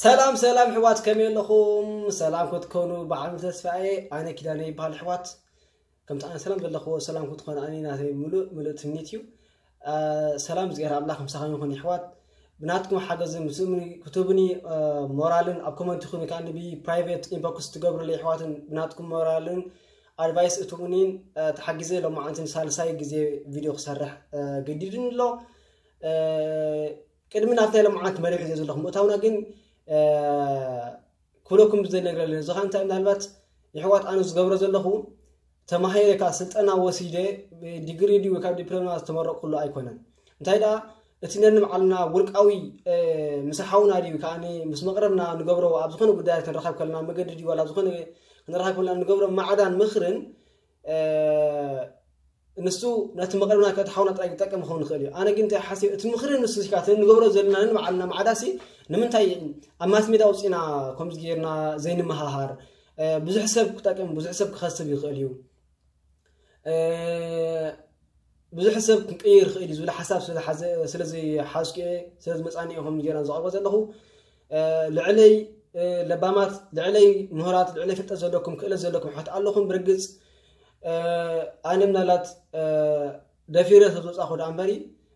ሰላም ሰላም ኣሕዋት፣ ከመይ ኣለኹም? ሰላም ክትኮኑ ብዓሚ ተስፋ እየ። ኣነ ኪዳነ ይበሃል ኣሕዋት። ከምቲ ኣነ ሰላም ዘለኹዎ ሰላም ክትኾኑ ኣነ ናተይ ምሉእ ምሉእ ትምኒት እዩ። አ፣ ሰላም እግዚኣብሔር ኣምላኽ ምሳኹም ይኹን ኣሕዋት። ብናትኩም ሓገዝን ምስ እምኒ ክትህቡኒ፣ አ፣ ሞራልን ኣብ ኮመንት ይኹን ወይ ከዓ ብ private inbox ትገብሩለይ ኣሕዋትን ብናትኩም ሞራልን ኣድቫይስ እትቡኒን፣ አ፣ ተሓጊዘ ሎማዓንትን ሳልሳይ ግዜ ቪድዮ ክሰርሕ፣ አ፣ ገዲድኒ ኣሎ። አ፣ ቅድሚ ናብቲ ናይ ሎማዓንቲ መደብ ሒዘ ዘለኹ ምእታውና ግን፣ አ፣ ክብለኩም ብዘይ ነገር ኣለኒ። እዚ ኸዓ እንታይ ምናልባት የሕዋት ኣነ ዝገብሮ ዘለኹ ተማሂረ ካብ ስልጠና ወሲደ ዲግሪ ድዩ ካብ ዲፕሎማ ዝተመረቕኩሉ ኣይኮነን። እንታይ ደኣ እቲ ነንባዕልና ውልቃዊ፣ አ፣ ምስ ሓውና ድዩ ከኣ ምስ መቕረብና ንገብሮ ኣብ ዝኾነ ጉዳያት ክንረኸብ ከለና መገዲ ድዩ ዋላ ዝኾነ ክንረኸብ ከለና ንገብሮ ማዕዳን ምኽርን፣ አ፣ ንሱ ነቲ መቕረብና ከእቲ ሓውና ጥራይ ክጠቅም ክኸውን ይኽእል እዩ። ኣነ ግን እንታይ ሓሲብ እቲ ምኽሪ ንሱ ሲካ እቲ ንገብሮ ዘለና ነንባዕልና ማዕዳሲ ንምንታይ ኣብ ማስ ሜዳ ኣውፂና ከምዚ ጌርና ዘይንመሃሃር? አ፣ ብዙሕ ሰብ ክጠቅም ብዙሕ ሰብ ክኸስብ ይኽእል እዩ። አ፣ ብዙሕ ሰብ ክንቅይር ይኽእል እዩ ዝብል ሓሳብ ስለ ዝሓዘ-፣ ስለ ዝሓዝኩ እየ፣ ስለ ዝመፃኒ እየ ከምዚ ጌርና ዘቕርቦ ዘለኹ። አ፣ ልዕለይ፣ አ፣ ለባማት፣ ልዕለይ ምሁራት፣ ልዕለይ ፍልጠት ዘለኩም፣ ክእለት ዘለኩም ኣሕዋት ኣለኹም ብርግፅ። አ፣ ኣነ ምናልባት፣ አ፣ ደፊረ ሰብ ዝወፃኹ ደኣ እምበሪ፣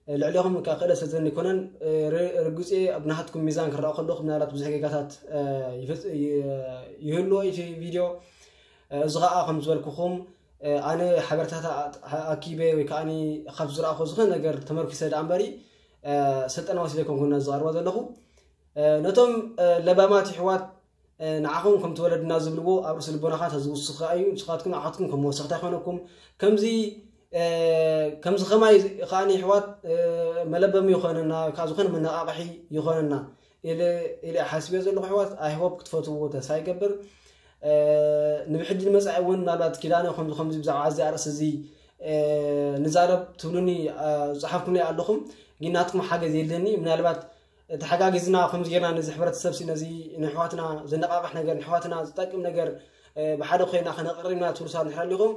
አ፣ ልዕሌኹም ከዓ ክእለት ስለ ዘለኒ ኣይኮነን። አ፣ ር-፣ ርግፅ እየ ኣብ ናትኩም ሚዛን ክረኣ ከለኹ ምናልባት ብዙሕ ጌጋታት፣ አ፣ ይፍፅ-፣ ይ-፣ ይህልዎ እቲ ቪድዮ። አ፣ እዚ ከዓ ከም ዝበልኩኹም፣ አ፣ ኣነ ሓበሬታታት ኣ-፣ ኣኪበ ወይ ከዓ ካብ ዝረኣኹ ዝኾነ ነገር ተመርኪሰ ደኣ እምበሪ፣ አ፣ ስልጠና ወሲደ ኣይኮንኩን ነዚ ዝቐርቦ ዘለኹ። አ፣ ነቶም፣ አ፣ ለባማት ኣሕዋት፣ አ፣ ንዓኹም ከምቲ ወለድና ዝብልዎ ኣብ ርእሲ ልቦናኻ ተዝውስኽ እዩ። ንስኻትኩም ንዓኹም ከም መወሰኽታ ይኾነኩም። ከምዚ፣ አ፣ ከምዚ ኸማይ ከኣ ኣሕዋት፣ አ፣ መለበሚ ይኾነና፣ ካብ ዝኾነ መነቓቕሒ ይኾነና ኢለ፣ ኢለ ሓሲበ ዘለኹ ኣሕዋት። I hope ክትፈትውዎ ተስፋ ይገብር። አ፣ ንብሕጂ ንመጻኢ እውን ምናልባት ኪዳነ ከምዚ ከምዚ ብዛዕባ እዚ ኣርእስቲ እዚ፣ አ፣ ንዛረብ ትብሉኒ፣ አ፣ ዝጸሓፍኩምለይ ኣለኹም። ግን ናትኩም ሓገዝ የለኒ። ምናልባት ተሓጋጊዝና ከምዚ ጌርና ነዚ ሕብረተሰብ ሲ ነዚ ንሕዋትና ዘነቃቅሕ ነገር፣ ንሕዋትና ዝጠቅም ነገር፣ እ፣ ብሓደ ኮይና ከነቅርብና ትብሉ ሰባት እንድሕር ኣሊኹም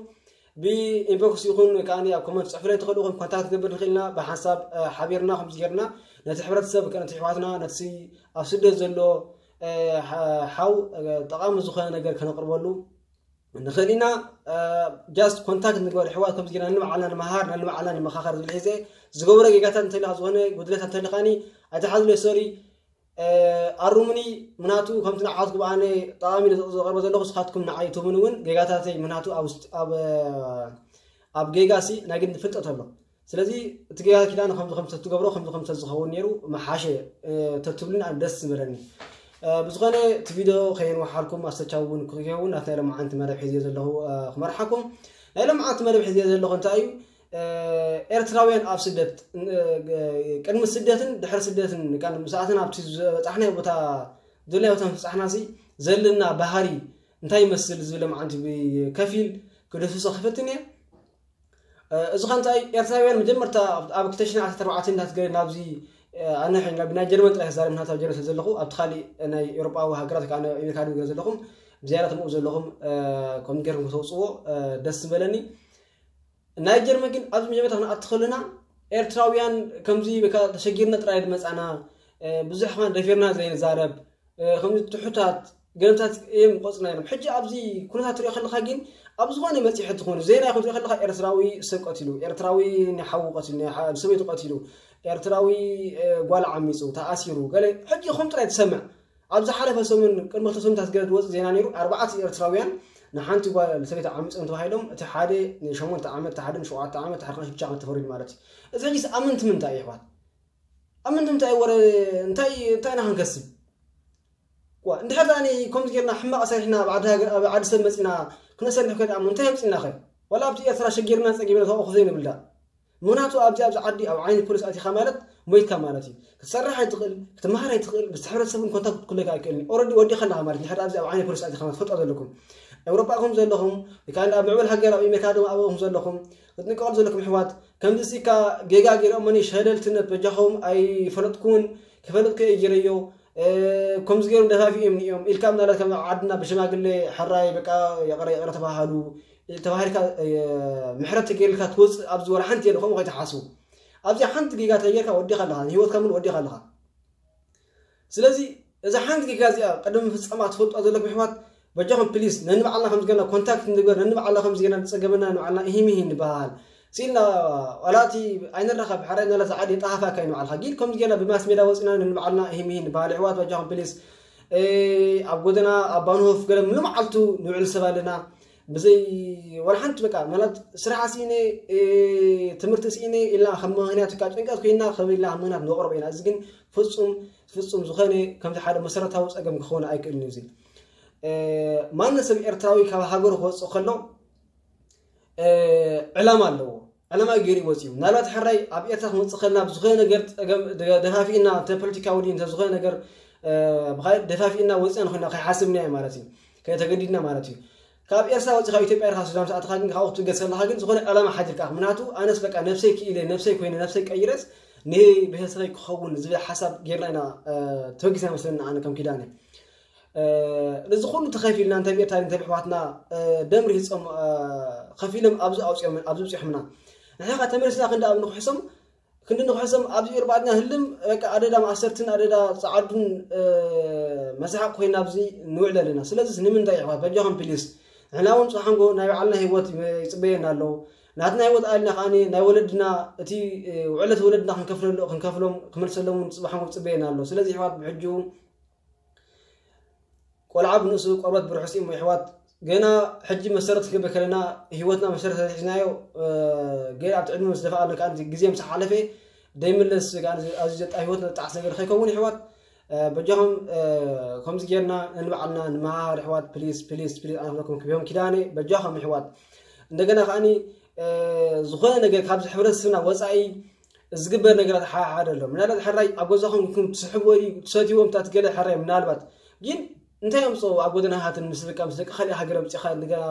ብኢንቦክስ ይኹን ወይ ከዓ ኣብ ኮመንት ጽሕፉለይ ትኽእሉ ኢኹም። ኮንታክት ክገብር ንኽእል ኢና። ብሓንሳብ፣ እ፣ ሓቢርና ከምዚ ጌርና ነቲ ሕብረተሰብ ከ ነቲ ኣሕዋትና ነቲ ኣብ ስደት ዘሎ፣ እ፣ ሓ-፣ ሓው፣ እ፣ ጠቓሚ ዝኾነ ነገር ከነቅርበሉ ንኽእል ኢና። እ፣ ጃስት ኮንታክት ንግበር ኣሕዋት፣ ከምዚ ጌርና ንባዕልና ንመሃር፣ ንባዕልና ንመኻኸር ዝብል ሒዘ ዝገብሮ ጌጋታት እንተልካ ዝኾነ ጉድለት እንተልካኒ ኣይትሓዝለይ፣ ሶሪ። እ፣ ኣሩሙኒ። ምናቱ ከምቲ ንዓትኩም ኣነ ጠቓሚ ኢለ ዘቕርቦ ዘለኹ ንስኻትኩም ንዓይ ትህቡኒ እውን ጌጋታተይ ምናቱ ኣብ ውሽጢ፣ ኣብ፣ ኣብ ጌጋ ሲ ናይ ግድን ፍልጠት ኣሎ። ስለዚ እቲ ጌጋ ኪዳነ ከምዚ ከምዚ ተትገብሮ ከምዚ ከምዚ ተዝኸውን ነይሩ ምሓሸ፣ እ፣ ተትብሉኒ ኣነ ደስ ዝበለኒ። እ፣ ብዝኾነ እቲ ቪድዮ ከየንውሓልኩም ኣስተቻው እውን ክኸውን ናቲ ናይ ሎማዓንቲ መደብ ሒዝዮ ዘለኹ፣ እ፣ ክመርሓኩም። ናይ ሎማዓንቲ መደብ ሒዝዮ ዘለኹ እንታይ እዩ? እ፣ ኤርትራውያን ኣብ ስደት፣ እ፣ ቅድሚ ስደትን ድሕሪ ስደትን፣ ካብ ምሳእትና ኣብቲ ዝበጻሕናዮ ቦታ፣ ዘለናዮ ቦታ ምብጻሕና ሲ ዘለና ባህሪ እንታይ ይመስል ዝብል ሎማዓንቲ ብከፊል ክድህስሶ ክፈትን እየ። እ፣ እዚ ኸ እንታይ ኤርትራውያን መጀመርታ ኣብ ክልተ ሽሕን ዓሰርተ ኣርባዕተን እናትገ-፣ ናብዚ፣ እ፣ ኣነ ሕጂ ናብ ናይ ጀርመን ጥራይ ክዛረብ ናታ ጀርመን ስለ ዘለኹ ኣብቲ ካሊእ ናይ ኤውሮጳዊ ሃገራት ወይ ከዓ ናይ ኣሜሪካ ገለ ዘለኹም ብዝያዳ ተምኡ ዘለኹም፣ እ፣ ከምኡ ጌርኩም ከተውፅዎ፣ እ፣ ደስ ዝበለኒ። ናይ ጀርመን ግን ኣብዚ መጀመርታ ክንኣቱ ከለና ኤርትራውያን ከምዚ በቃ ተሸጊርና ጥራይ ዝመጻና፣ እ፣ ብዙሕ ከማን ደፊርና ዘይንዛረብ፣ እ፣ ከምዚ ትሑታት ገለታት እዮም ቆጽና ነይሮም። ሕጂ ኣብዚ ኩነታት ትሪኦ ከለኻ ግን ኣብ ዝኾነ መጺሐ ትኾኑ ዜና ይኹን ትሪኦ ከለኻ ኤርትራዊ ሰብ ቀቲሉ፣ ኤርትራዊ ንሓዉ ቀቲሉ፣ ንሓ-፣ ንሰበይቱ ቀቲሉ፣ ኤርትራዊ፣ እ፣ ጓል ዓሚጹ፣ ተኣሲሩ፣ ገለ ሕጂ ከም ጥራይ ትሰምዕ። ኣብ ዝሓለፈ ሰሙን ቅድሚ ክልተ ሰሙንታት ገለ ዝወጽእ ዜና ነይሩ። ኣርባዕተ ኤርትራውያን ንሓንቲ ጓል ሰበይቲ ዓሚጾም ተባሂሎም፣ እቲ ሓደ ንሸሞንተ ዓመት፣ እቲ ሓደ ንሸውዓተ ዓመት፣ እቲ ሓደ ንሽዱሽተ ዓመት ተፈሪዱ ማለት እዩ። እዚ ሕጂስ ኣብ ምንታይ ምንታይ እዩ ኣሕዋት? ኣብ ምንታይ ምንታይ ወረ እንታይ፣ እንታይ ኢና ክንከስብ? ዋ፣ እንድሕር ደኣ ከምዚ ጌርና ሕማቕ ሰሪሕና ኣብ ዓዲ ሃገር፣ ኣብ ዓዲ ሰብ መጺና ክነሰርሕ ከ ደኣ እንታይ የምጽእና ኸ? ዋላ ኣብቲ ኤርትራ ሸጊርና ጸጊብና ተወቕኹ ዘይንብል ደኣ? ምኽንያቱ ኣብዚ፣ ኣብዚ ዓዲ ኣብ ዓይኒ ፖሊስ ኣቲኻ ማለት ሞይትካ ማለት እዩ። ክትሰርሕ ኣይትኽእል፣ ክትመሃር ኣይትኽእል፣ ምስ ሕብረተሰብ እውን ኮንታክት ክትህልወካ ኣይክእልን እዩ። ኦረዲ ወዲእካ ኣለኻ ማለት እዩ። እንድሕር ኣብዚ ኣብ ዓይኒ ፖሊስ ኣቲኻ ማለት ትፈልጡ ዘለኹም። ኤውሮጳ ኢኹም ዘለኹም፣ ወይ ከዓ ኣብ ምዕቡል ሃገር ኣብ ኣሜሪካ ድማ ኣብኡ ኢኹም ዘለኹም፣ ክትንቀቑ ዘለኩም ኣሕዋት፣ ከምዚ ሲካ ጌጋ ገይሮም እኒ ሸለልትነት በጃኹም ኣይፈለጥኩን፣ ክፈልጥ ከ እየ ገይረዮ፣ እ፣ ከምዚ ገይሮም ደፋፊኦም እዮም ኢልካ ምናልባት ከም ዓድና ብሽማግሌ ሕራይ በቃ ይቕረ ይቕረ ተባሃሉ፣ ተባሂልካ፣ እ፣ ምሕረት ተገይርልካ ትወፅእ ኣብዚ ወላ ሓንቲ የለ። ከምኡ ከይትሓስቡ። ኣብዚኣ ሓንቲ ጌጋ ተገይርካ ወዲኻ ኣለኻ፣ ንህይወትካ ሙሉ ወዲኻ ኣለኻ። ስለዚ እዛ ሓንቲ ጌጋ እዚኣ ቅድሚ ፍጻማ ትፈልጧ ዘለኩም ኣሕዋት፣ በጃኹም ፕሊስ ነንባዕልና ከም ዝገና ኮንታክት ንግበር፣ ነንባዕልና ከም ዝገና ዝጸገመና ንባዕልና እሂም እሂም ንበሃል። ሲልና ዋላ እቲ ኣይንራኸብ፣ ሓራይ ናላ ዝዓዲ የጠሃፋካ እዩ ንባዕልኻ። ግን ከም ዝገና ብማስ ሜዳ ወጺና ነንባዕልና እሂም እሂም ንበሃል። ኣሕዋት በጃኹም ፕሊስ፣ ኣብ ጎደና ኣብ ባንሆፍ ገለ ምሉእ መዓልቱ ንውዕል ሰብ ኣለና። ብዘይ ዋላ ሓንቲ በቃ ማለት ስራሕ ስኢነ፣ ትምህርቲ ስኢነ ኢልና ከም ምኽንያት እካ ጭንቀት ኮይና ከም ኢልና ከም ምኽንያት ንቕርቦ ኢና። እዚ ግን ፍጹም ፍጹም ዝኾነ ከምዚ ሓደ መሰረታዊ ጸገም ክኸውን ኣይክእልን እዩ። እዚ ማንም ሰብ ኤርትራዊ ካብ ሃገሩ ክወጽእ ከሎ ዕላማ ኣለዎ። ዕላማ ገይሩ ይወጽእ እዩ። ምናልባት ሕራይ ኣብ ኤርትራ ክንወጽእ ከለና ብዝኾነ ነገር ጸገም ደፋፊእና፣ እንተ ፖለቲካዊ ድዩ እንተ ዝኾነ ነገር ብኻልእ ደፋፊእና ወጽእና ንኾይና ከይሓስብና እዩ ማለት እዩ። ከይተገዲድና ማለት እዩ። ካብ ኤርትራ ወጺኻ ኢትዮጵያ ኢኻ ሱዳን ሰኣትኻ ግን ካብኡ ክትብገስ ከለኻ ግን ዝኾነ ዕላማ ሓዲርካ ምክንያቱ ኣነስ በቃ ነብሰይ ክኢለ ነብሰይ ኮይነ ነብሰይ ቀይረስ ንቤተሰበይ ክኸውን ዝብል ሓሳብ ጌርና ኢና ተበጊስና መስለኒ ኣነ ከም ኪዳነ። እዚ ኩሉ ተኸፊልና እንተ ብኤርትራ እንተ ብሕዋትና ደም ርሂጾም ከፊሎም ኣብዚ ኣውፅኦም ኣብዚ ብፅሖምና ንሕኻ ተመልስና ክንዲ ኣብ ንክሕሶም ክንዲ ንክሕሶም ኣብዚ እርባዕትና ህልም በቃ ኣደዳ ማእሰርትን ኣደዳ ፃዓዱን መሳሓቅ ኮይና ኣብዚ ንውዕል ኣለና። ስለዚ ንምንታይ ኣሕዋት በጃኹም ፕሊስ ንሕና እውን ፅሓንጎ ናይ ባዕልና ህይወት ይፅበየና ኣለዉ። ናትና ህይወት ኣልና ከዓኒ ናይ ወለድና እቲ ውዕለት ወለድና ክንከፍለሉ ክንከፍሎም ክመልሰሎም እውን ፅባሓንጎ ይፅበየና ኣሎ። ስለዚ ኣሕዋት ብሕጂ ቆልዓ ብንእሱ ቆርበት ብርሑስ እሞ ኣሕዋት ገና ሕጂ መሰረት ክገብር ከለና ህይወትና መሰረት ሒዝናዮ ገና ኣብቲ ዕድመ ምስ ደፋ ኣሎ ከዓ ግዜ ምስ ሓለፈ ደይምለስ ኣዚ ዘጣ ህይወት ነጣዕስ ነገር ከይከውን ኣሕዋት በጃኹም ከምዚ ጌርና ንባዕልና ንመሃር ኣሕዋት ፕሊስ ፕሊስ ፕሊስ ኣነ ክብለኩም ክብዮም ኪዳነ በጃኹም ኣሕዋት እንደገና ከዓኒ ዝኾነ ነገር ካብዚ ሕብረተሰብና ወፃኢ ዝግበር ነገራት ሓሓደ ኣሎ ምናልባት ሕራይ ኣብ ገዛኹም ኢልኩም ትስሕብዎ ድዩ ትሰትይዎም ታትገለ ሕራይ ምናልባት ግን እንታይ ኣምፅኦ ኣብ ጎደናሃትን ምስ ደቂ ምስ ደቂ ካሊእ ሃገር ኣምፂኻ እንደገና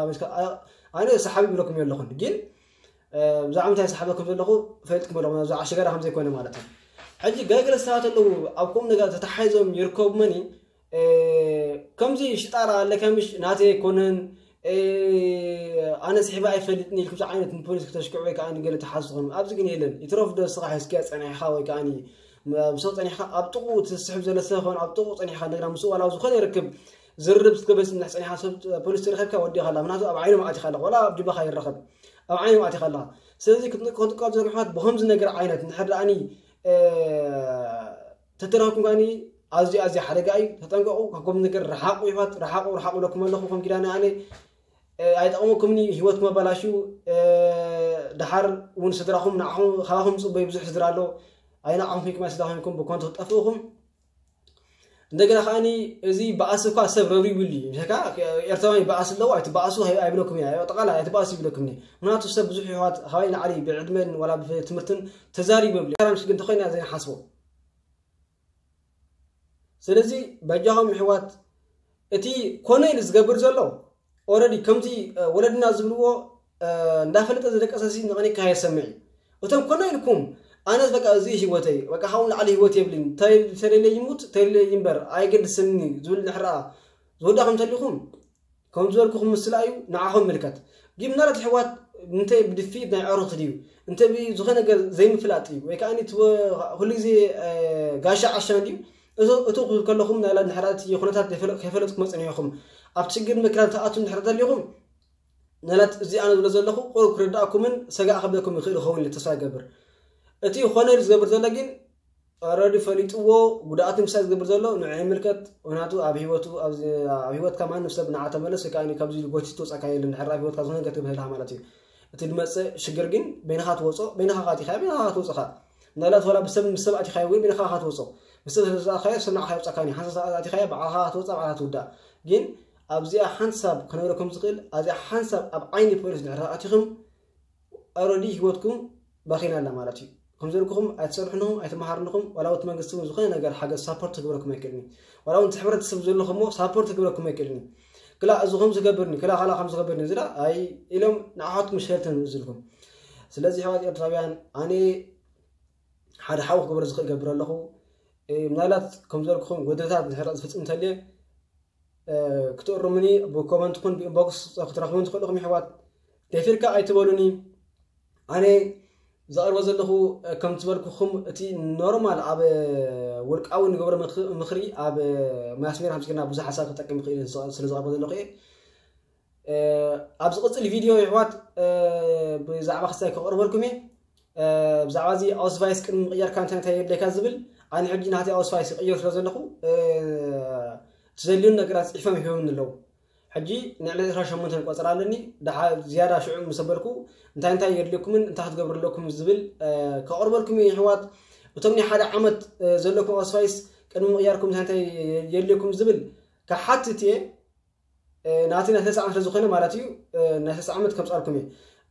ኣነ ሰሓቢ ብለኩም ኣለኹን ግን ብዛዕባ እንታይ ሰሓበኩም ዘለኹ ፈልጥኩም ኣለኹ ብዛዕባ ሽጋራ ከም ዘይኮነ ማለት እዩ ሕጂ ገለገለ ሰባት ኣለዉ ኣብ ከምኡ ነገር ተተሓሒዞም ይርከቡ መኒ ከምዚ ሽጣራ ኣለካ ምሽ ናተይ ኣይኮነን ኣነ ስሒባ ኣይፈልጥን ኢልኩም ዓይነት ንፖሊስ ክተሽክዑ ወይ ከዓ ንገለ ተሓዝ ዝኾኑ ኣብዚ ግን የለን ይትረፍ ዶ ስኻ ሒዝኪያ ፀኒሕኻ ወይ ከዓ ምሰው ፀኒሕካ ኣብ ጥቑ ትስሕብ ዘለ ሰብ ኾን ኣብ ጥቑ ፀኒሕካ እንደገና ምስኡ ዋላ ዝኾነ ይርክብ ዝርርብ ክትገበስ እንድሕ ፀኒሕካ ሰብ ፖሊስ ትረኸብካ ወዲኻ ኣላ ምክንያቱ ኣብ ዓይኖም ኣቲኻ ኣለኻ ዋላ ኣብ ጅባኻ ይረኸብ ኣብ ዓይኖም ኣቲኻ ኣለኻ ስለዚ ክትንቀ ክትንቀ ዝረግሕዋት ብኸምዚ ነገር ዓይነት እንድሕር ደኣኒ ተተረኸብኩም ከዓኒ ኣዝዩ ኣዝዩ ሓደጋ እዩ ተጠንቀቑ ካብኩም ነገር ረሓቑ ይፋት ረሓቑ ረሓቑ ኢለኩም ኣለኹ ከም ኪዳነ ኣነ ኣይጠቕመኩምኒ ህይወትኩም ኣባላሽዩ ደሓር እውን ስድራኹም ንዓኹም ካባኹም ፅበዩ ብዙሕ ስድራ ኣሎ ኣይንዓኹም ከይኩም ስድራ ኮይንኩም ብኮንቶ ክጠፍእኹም እንደገና ከዓኒ እዚ በኣሲ እኳ ሰብ ረብሪቡሉ እዩ ምሸካ ኤርትራዊ በኣሲ ኣለዎ ኣይትበኣሱ ኣይብለኩም እያ ጠቃላ ኣይትበኣሱ ይብለኩም ምክንያቱ ሰብ ብዙሕ ይሕዋት ካባይ ንዓሊ ብዕድመን ዋላ ብትምህርትን ተዛሪቡ የብሉ ግን እንተኮይና ዘይሓስቦ ስለዚ በጃኹም ኣሕዋት እቲ ኮነ ኢሉ ዝገብር ዘሎ ኦረዲ ከምቲ ወለድና ዝብልዎ እንዳፈለጠ ዝደቀሰሲ ንቐኒካ የሰምዕ እዩ እቶም ኮነ ኢልኩም ኣነስ በቃ እዚ ህይወተይ በቃ ካብኡ ንላዕሊ ህይወት የብልን ተሌለ ይሙት ተሌለ ይንበር ኣይገድስኒ ዝብል ንሕረኣ ዝወዳኹም እንተሊኹም ከም ዝበልኩኹም ምስላ እዩ ንዓኹም ምልከት ግን ምናልባት ኣሕዋት እንተ ብድፊት ናይ ዕሩኽቲ ድዩ እንተ ዝኾነ ነገር ዘይምፍላጥ እዩ ወይ ከዓ ኩሉ ግዜ ጋሻ ዓሻ እንድዩ እቱ ክብል ከለኹም ናይ ንሕራቲ ኩነታት ከይፈለጥኩም መፅንሕኹም ኣብ ችግር መክራን ተኣቱ እንድሕር ተሊኹም ነላት እዚ ኣነ ዝብሎ ዘለኹ ቁሩብ ክርዳእኩምን ሰጋእ ከብለኩም ይኽእል ይኸውን ኢለ ተስፋ ይገብር እቲ ኮነ ዝገብር ዘሎ ግን ረዲ ፈሊጥዎ ጉድኣት ምሳይ ዝገብር ዘሎ ንዑ ይምልከት ምክንያቱ ኣብ ህይወቱ ኣብ ህይወትካ ማንም ሰብ ንዓ ተመለስ ወይ ከዓ ካብዚ ጎቲት ትወፃካ የለን ድሕር ኣብ ህይወትካ ዝኾነ ነገር ትብህልካ ማለት እዩ እቲ ዝመፅእ ሽግር ግን በይንኻ ትወፆ በይንኻ ካቲኻ በይንኻ ትወፅኻ ምናልባት ዋላ ብሰብ ምስ ሰብ ኣቲኻዮ ወይ በይንኻ ትወፆ ምስ ሰብ ስለዝኣኻዮ ሰብ ንዓኻ ይወፃካ ሓንሳብ ኣቲኻዮ ባዕልኻ ትወፃ ባዕልኻ ትውዳእ ግን ኣብዚኣ ሓንሳብ ክነግረኩም ዝኽእል ኣብዚኣ ሓንሳብ ኣብ ዓይኒ ፖሊስ ድሕር ኣቲኹም ኣረዲ ህይወትኩም ባኺና ኣላ ማለት እዩ ከም ዘልኩኹም ኣይትሰርሕንኹም ኣይትመሃርንኹም ዋላ ወት መንግስቲ እውን ዝኾነ ነገር ሓገዝ ሳፖርት ክግበረኩም ኣይክእልኒ ዋላ እውን ሕብረተሰብ ዘለኹሞ ሳፖርት ክግበረኩም ኣይክእልኒ ክላ እዚ ከም ዝገብርኒ ክላ ካላ ከም ዝገብርኒ ዝዳ ኣይ ኢሎም ንዓኻትኩም ሸርተን ዝልኩም ስለዚ ሕዋት ኤርትራውያን ኣነ ሓደ ሓው ክገብረ ዝኽእል ገብር ኣለኹ ምናልባት ከም ዘልኩኹም ጎደታት ዝሕረቕ ዝፍፅም እንተልየ ክትእርሙኒ ብኮመንት ኩን ብኢንቦክስ ክትረኽቡን ትኽእሉ ኢኹም ይሕዋት ደፊርካ ኣይትበሉኒ ኣነ ዘቕርቦ ዘለኹ ከም ዝበልኩኹም እቲ ኖርማል ኣብ ውልቃዊ ንገብሮ ምኽሪ ኣብ ማስሜር ሃምስኪና ብዙሕ ሓሳብ ክጠቅም ይኽእል ስለ ዘቕርቦ ዘለኹ እየ። ኣብ ዝቕፅል ቪድዮ ይሕዋት ብዛዕባ ክስታይ ከቕርበልኩም እየ። ብዛዕባ እዚ ኣውስቫይስ ቅድሚ ምቕያርካ እንታይ እንታይ የድለካ ዝብል ኣነ ሕጂ ናተይ ኣውስቫይስ ይቕይር ስለ ዘለኹ ትዘልዩን ነገራት ፅሒፎም ይህብኒ ኣለዉ። ሕጂ ንዕሊ ዕስራ ሸሞንተ ቆፀራ ኣለኒ። ዝያዳ ሽዑ ምስ ኣበልኩ እንታይ እንታይ የድልየኩምን እንታይ ክትገብሩ ኣለኩም ዝብል ከቕርበልኩም እየ ይሕዋት። እቶም ናይ ሓደ ዓመት ዘለኩም ኣውስቫይስ ቅድሚ ምቕያርኩም እንታይ እንታይ የድልየኩም ዝብል ክሓትት እየ። ናተይ ናይ ሰለስተ ዓመት ስለዝኾነ ማለት እዩ። ናይ ሰለስተ ዓመት ከምፃልኩም እየ።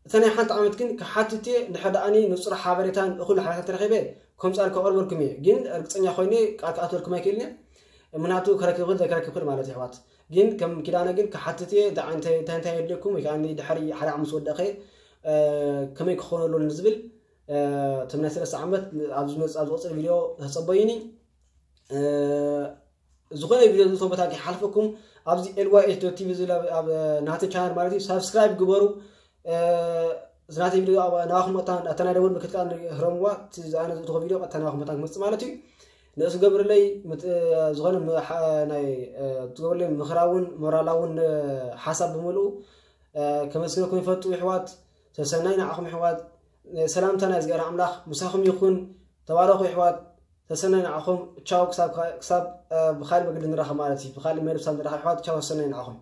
እታ ናይ ሓንቲ ዓመት ግን ክሓትት እየ። እንድሕር ደኣኒ ንፁር ሓበሬታን እኹል ሓበሬታን ተረኺበ ከምፃል ከቕርበልኩም እየ። ግን እርግፀኛ ኮይነ ቃል ክኣትወልኩም ኣይክእልን እየ። ምክንያቱ ከረክብ ክእል ዘይከረክብ ክእል ማለት እዩ ኣሕዋት። ግን ከም ኪዳነ ግን ክሓትት እየ። እንታይ እንታይ የድልየኩም ወይ ከዓ ድሕሪ ሓደ ዓመት ዝወደኸ ከመይ ክኾኑ ኣለዎ ንዝብል እቶም ናይ ሰለስተ ዓመት ኣብ ዝመፅእ ኣብ ዝቕፅል ቪድዮ ተፀበዩኒ። ዝኾነ ቪድዮ ዝልቶ ቦታ ከይሓልፈኩም ኣብዚ ኤልዋኤች ቲቪ ዝብል ኣብ ናተ ቻናል ማለት እዩ ሳብስክራይብ ግበሩ። ዝናተ ቪድዮ ናባኹም ቀጥታ እታ ናይ ደወል ምልክት ከዓ ህረምዋ። ኣነ ዝልትኮ ቪድዮ ቀጥታ ናባኹም መታን ክመፅእ ማለት እዩ። ንእስ ገብርለይ ዝኾነ ናይ ትገብርለይ ምኽራውን ሞራላውን ሓሳብ ብምልኡ ከመስግነኩም ይፈቱ ይሕዋት። ሰሰናይ ንዓኹም ይሕዋት። ሰላምታ ናይ እግዚኣብሔር ኣምላኽ ምሳኹም ይኹን። ተባረኹ ይሕዋት። ሰሰናይ ንዓኹም። ቻው። ክሳብ ብካልእ መገዲ ንራኸብ ማለት እዩ። ብካልእ መደብ ክሳብ ንራኸብ ይሕዋት። ቻው። ሰሰናይ ንዓኹም።